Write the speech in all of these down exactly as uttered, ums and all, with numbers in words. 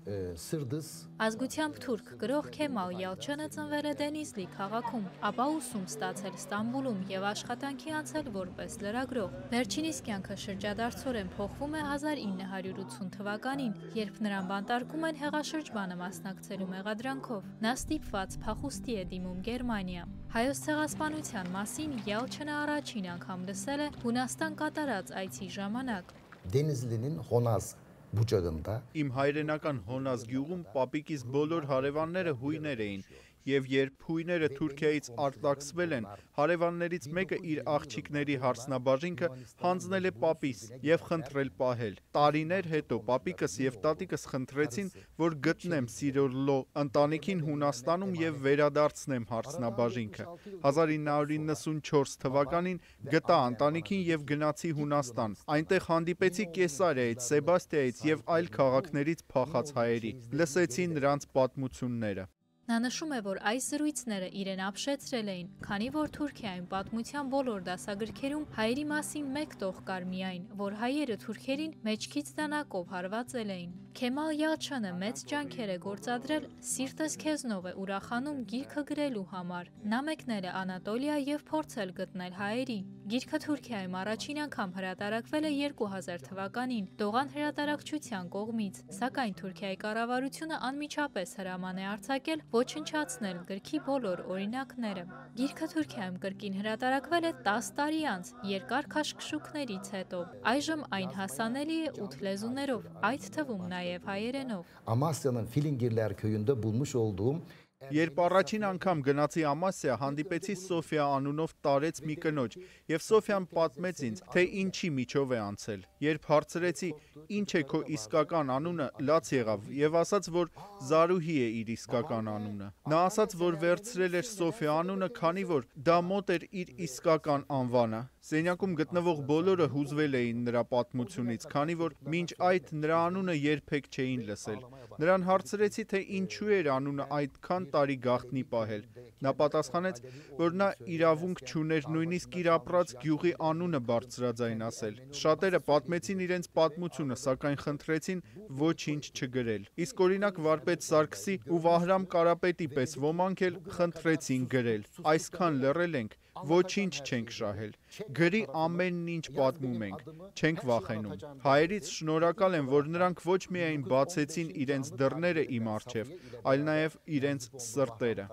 Ազգությամբ թուրք գրող Քեմալ Յալչյանը ծնվել է Դենիզլի քաղաքում, ապա ուսում ստացել Ստամբուլում եւ աշխատանքի անցել որպես լրագրող։ Վերջինիս կյանքը շրջադարձորեն փոխվում է հազար ինը հարյուր ութուն թվականին, երբ նրան բանտարկում են հեղաշրջմանը մասնակցելու մեղադրանքով։ Նա ստիպված փախուստի է դիմում Գերմանիա։ Հայոց ցեղասպանության մասին Յալչյանը առաջին անգամ լսել է Հունաստան կատարած այցի ժամանակ։ Denizli'nin Honaz bucağında Իմ հայրենական Հոնազ գյուղում պապիկիս բոլոր հարևանները հույներ էին, եւ երբ հույները Թուրքիայից արտաքսվել են, հարևաններից մեկը իր աղջիկների հարսնաբաժինքը հանձնել է պապիս եւ խնդրել պահել։ Տարիներ հետո պապիկս եւ տատիկս խնդրեցին, որ գտնեմ Սիրոռլո ընտանիքին Հունաստանում եւ վերադարձնեմ հարսնաբաժինքը։ հազար ինը հարյուր իննսունչորս թվականին գտա ընտանիքին եւ գնացի Հունաստան։ Այնտեղ հանդիպեցի Կեսարիայից, Սեբաստիայից եւ այլ քաղաքներից փախած հայերի։ Լսեցի նրանց պատմությունները։ Նա նշում է, որ այս զրույցները իրեն ապշեցրել էին, քանի որ Թուրքիայում պատմության բոլոր դասագրքերում հայերի մասին մեկ տող կար միայն, որ հայերը թուրքերին մեջքից դանակով հարվածել էին։ Քեմալ Յալչյանը մեծ ջանքեր է գործադրել «Սիրտս քեզնով է ուրախանում» գիրքը գրելու համար։ Նա մեկնել է Անատոլիա եւ փորձել գտնել հայերի։ Գիրքը Թուրքիայում առաջին անգամ հրատարակվել է երկու հազար թվականին Դողան հրատարակչության կողմից, սակայն Թուրքիայի կառավարությունը անմիջապես հրաման է արձակել ոչնչացնել գրքի բոլոր օրինակները։ Գիրքը Թուրքիայում կրկին հրատարակվել է տասը տարի անց, երկար քաշքշուկներից հետո։ Այժմ այն հասանելի է ութ լեզուներով, այդ թվում նաև հայերենով։ Amasya'nın Filingirler köyünde bulmuş olduğum Երբ առաջին անգամ գնացի Ամասիա, հանդիպեցի Սոֆիա անունով տարեց մի կնոջ, եւ Սոֆիան պատմեց ինձ, թե ինչի միջով է անցել։ Երբ հարցրեցի, ինչ է քո իսկական անունը, լաց եղավ եւ ասաց, որ Զարուհի է իր իսկական անունը։ Նա ասաց, որ վերցրել էր Սոֆիա անունը, քանի որ դա մոտ էր իր իսկական անվանը։ Սենյակում գտնվող բոլորը հուզվել էին նրա պատմությունից, քանի որ մինչ այդ նրա անունը երբեք չէին լսել։ Նրան հարցրեցի, թե ինչու էր անունը այդքան տարի գաղտնի պահել։ Նա պատասխանեց, որ նա իրավունք չուներ նույնիսկ իր ապրած գյուղի անունը բարձրաձայն ասել։ Շատերը պատմեցին իրենց պատմությունը, սակայն խնդրեցին ոչինչ չգրել։ Իսկ օրինակ վարպետ Սարգսի ու Վահրամ Կարապետի պես ոմանք էլ խնդրեցին գրել։ Այսքան լռել ենք, ոչինչ չենք շահել։ Գրի ամեն ինչ պատմում ենք, չենք վախենում։ Հայերից շնորհակալ եմ, որ նրանք ոչ միայն բացեցին իրենց դռները իմ առջև, այլ նաև իրենց սրտերը։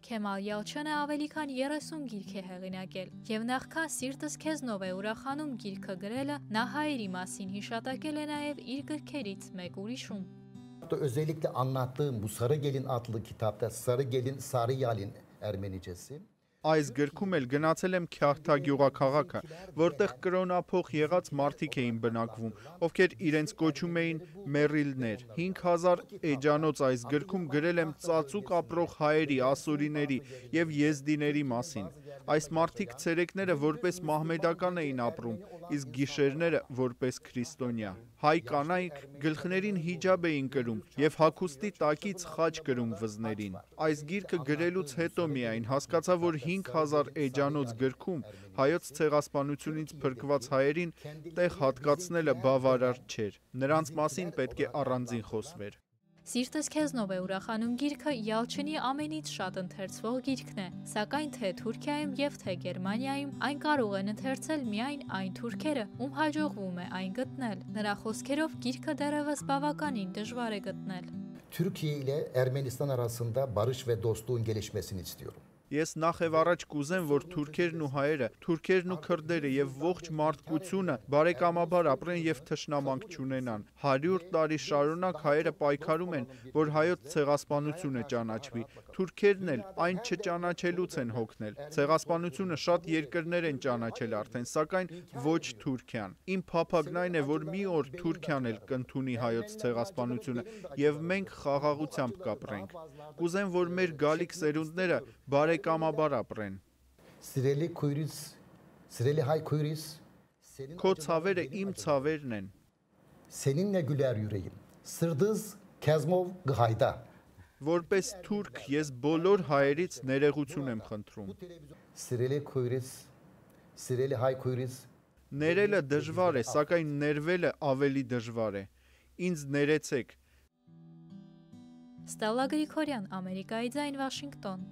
Քեմալ Յալչյանը ավելի քան երեսուն գիրք է հեղինակել, եւ նախքան «Սիրտս քեզնով է ուրախանում» գիրքը գրելը, նա հայերի մասին հիշատակել է նաև իր գրքերից մեկ ուրիշում։ Özellikle anlattığım bu Sarı Gelin adlı kitapta Sarı Gelin Sarı Yalin Ermenicesi Այս գրքում էլ գնացել եմ Քյահթա գյուղաքաղաքը, որտեղ կրոնափոխ եղած մարդիկ էին բնակվում, ովքեր իրենց կոչում էին մեռիլներ։ հինգ հազար էջանոց այս գրքում գրել եմ ծածուկ ապրող հայերի, ասորիների եւ եզդիների մասին։ Այս մարդիկ ցերեկները որպես մահմեդական էին ապրում, իսկ գիշերները որպես քրիստոնյա։ Հայ կանայք գլխներին հիջաբ էին կրում եւ հագուստի տակից խաչ կրում վզներին։ Այս գիրքը գրելուց հետո միայն հասկացա, որ հինգ հազար էջանոց գրքում հայոց ցեղասպանությունից փրկված հայերին տեղ հատկացնելը բավարար չէր։ Նրանց մասին պետք է առանձին խոսվեր։ «Սիրտս քեզնով է ուրախանում» գիրքը Յալչյանի ամենից շատ ընթերցվող գիրքն է, սակայն թե Թուրքիայում եւ թե Գերմանիայում այն կարող են ընթերցել միայն այն թուրքերը, ում հաջողվում է այն գտնել։ Նրա խոսքերով գիրքը դեռևս բավականին դժվար է գտնել։ Türkiye ile Ermenistan arasında barış ve dostluğun gelişmesini istiyorum. Ես նախ եւ առաջ կուզեմ, որ թուրքերն ու հայերը, թուրքերն ու քրդերը եւ ողջ մարդկությունը բարեկամաբար ապրեն եւ թշնամանք չունենան։ հարյուր տարի շարունակ հայերը պայքարում են, որ հայոց ցեղասպանությունը ճանաչվի։ Թուրքերն էլ այն չճանաչելուց են հոգնել։ Ցեղասպանությունը շատ երկրներ են ճանաչել արդեն, սակայն ոչ Թուրքիան։ Իմ փափագն այն է, որ մի օր Թուրքիան էլ կընդունի հայոց ցեղասպանությունը եւ մենք խաղաղությամբ կապրենք։ Կուզեմ, որ մեր գալիք սերունդները բարեկամաբար ապրեն։ Սիրելի քույրից, սիրելի հայ քույրից, Քո ցավերը իմ ցավերն են։ Seninle güler yüreğim. Sırdız Kezmov Gıhayda. Որպես թուրք ես բոլոր հայերից ներողություն եմ խնդրում։ Սիրելի քույրից, սիրելի հայ քույրից, Ներելը դժվար է, սակայն ներվելը ավելի դժվար է։ Ինձ ներեցեք։ Ստելլա Գրիգորյան, Ամերիկայի ձայն, Վաշինգտոն։